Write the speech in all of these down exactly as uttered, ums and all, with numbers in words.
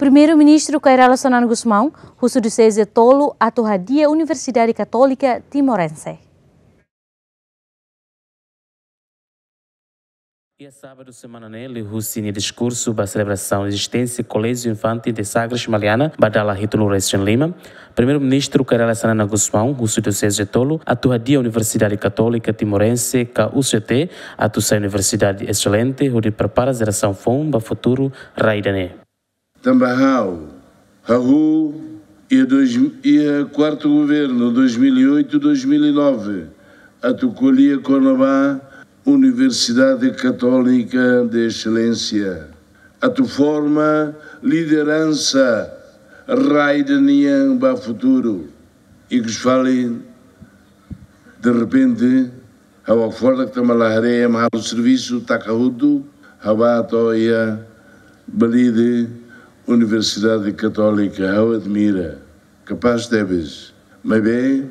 Primeiru-Ministru Kay Rala Xanana Gusmão husu dioseze tolu atu hadi'a Universidade Katólika Timorense. Iha sábadu semana ne'e, liuhusi nia diskursu ba selebrasaun ezisténsia Koléjiu Infantil de Sagres Maliana ba dala hitunulu resin lima, Primeiru-Ministru Kay Rala Xanana Gusmão husu dioseze tolu atu hadi'a Universidade Katólika Timorense ka U C T atu sai universidade exelente hodi prepara jerasaun foun ba futuru rai ida-ne'e. Tanba ha'u hahú iha dois, iha kuartu governu dois mil e oito, dois mil e nove, atu ko'alia kona-ba Universidade Katólika de Exelénsia, atu forma lideransa rai ida nian ba futuru. Ikus fali, derrepente, ha'u hakfodak tanba la haree ema halo servisu, taka hotu, ha'u bá to'o iha Balide, Universidade Katólika, ha'u admira, kapás tebes. Maibé,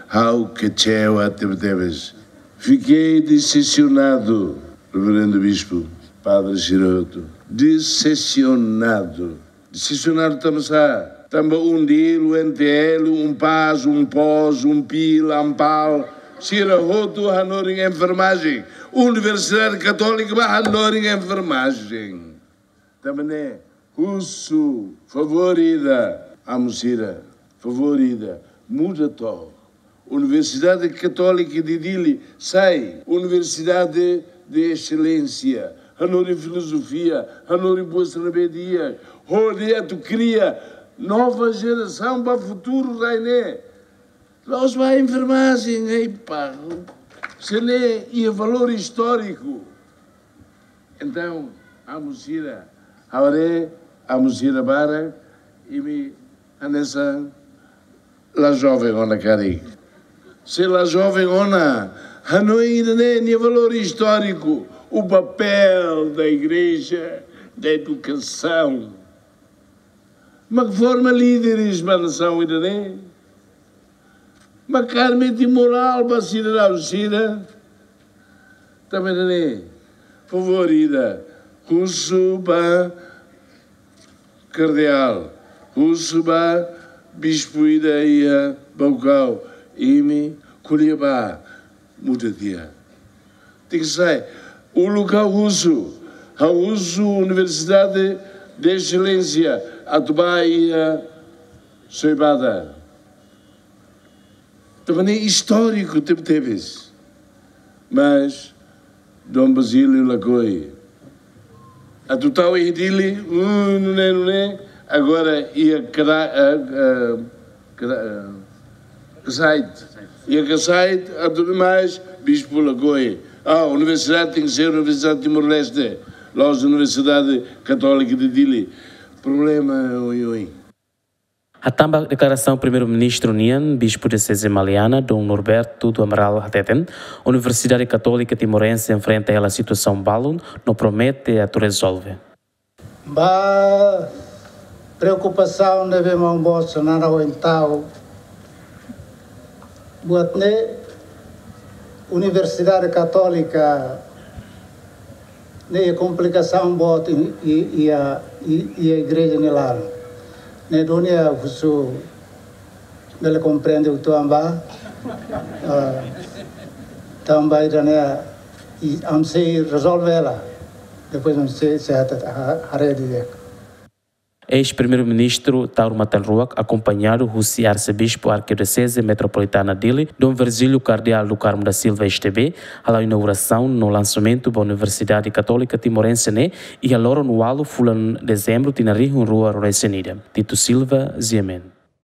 ha'u kecewa tebetebes. Fiquei decepcionado, Reverendu Bispu, padre sira hotu. Decepcionado. Decepcionado tanba sá? Tanba UNDIL, UNTL, UNPAZ, UNPOZ, UNPIL, ANPAL, sira hotu hanorin enfermajen. Universidade Katólika bá hanorin enfermajen. Tanba ne'e, husu, favór ida, amu sira, favór ida, muda to'ok. Universidade Katólika de Dili sai Universidade de Exelénsia. Hanorin filozofia, hanorin buat sira ne'ebé di'ak, hodi atu kria nova jerasaun ba futuru rai ne'e. La'ós ba enfermajen, ei pá. Ida-ne'e iha valór istóriku. Entaun, amu sira, ha'u haree amu sira barak, imi hanesan la joven ona karik. Se la joven ona, hanoin ida-ne'e nia valór istóriku, o papel da igreja, da educação. Mak forma líderes ba nasaun ida-ne'e. Mak armeti morál ba sidadaun sira. Tanba ne'e, favór ida, husu ba kardeál, husu ba bispu ida iha Baucau, imi ko'alia bá, muda tiha. Tenke sai. Uluk ha'u husu, ha'u husu Universidade de Exelénsia atu bá iha Soibada. Tanba ne'e istóriku tebetebes. Mas Dom Basílio lakohi. Atu tau iha Dili, uh, nune'e, nune'e, agora iha Kra-, eh, eh, Kra-, eh, Kasait. Iha Kasait, atu mais, bispu lakohi. Ah, universidade tenke ser Universidade Timor-Leste, la'ós Universidade Katólika de Dili. Problema, oi, oi. Hatán ba deklarasaun Primeiru-Ministru nian, Bispu Dioseze Maliana, Dom Norberto do Amaral hateten, Universidade Katólika Timorense enfrenta hela situasaun balun, no promete atu rezolve. Ba preokupasaun ne'ebé maun-boot Xanana ohin tau, buat ne'e Universidade Katólika ne'e komplikasaun boot i, i, iha, i, iha igreja nia laran. Ne'e duni ha'u husu bele komprende uitoan ba, ah, tanba ida-ne'e, i, ami sei rezolve hela. Depois ami sei, sei ata, ha, haree didi'ak. Eis-Primeiru-Ministru Taur Matan Ruak, akompañadu husi Arsebispu Arkidioseze Metropolitana Dili, Dom Virgílio Kardeál do Carmo da Silva, S T B, hala'o inaugurasaun no lansamentu ba Universidade Katólika Timorense ne'e, iha loron ualu fulan Dezembru tinan rihun rua ruanulu-resin-ida. Tito Silva, G M N.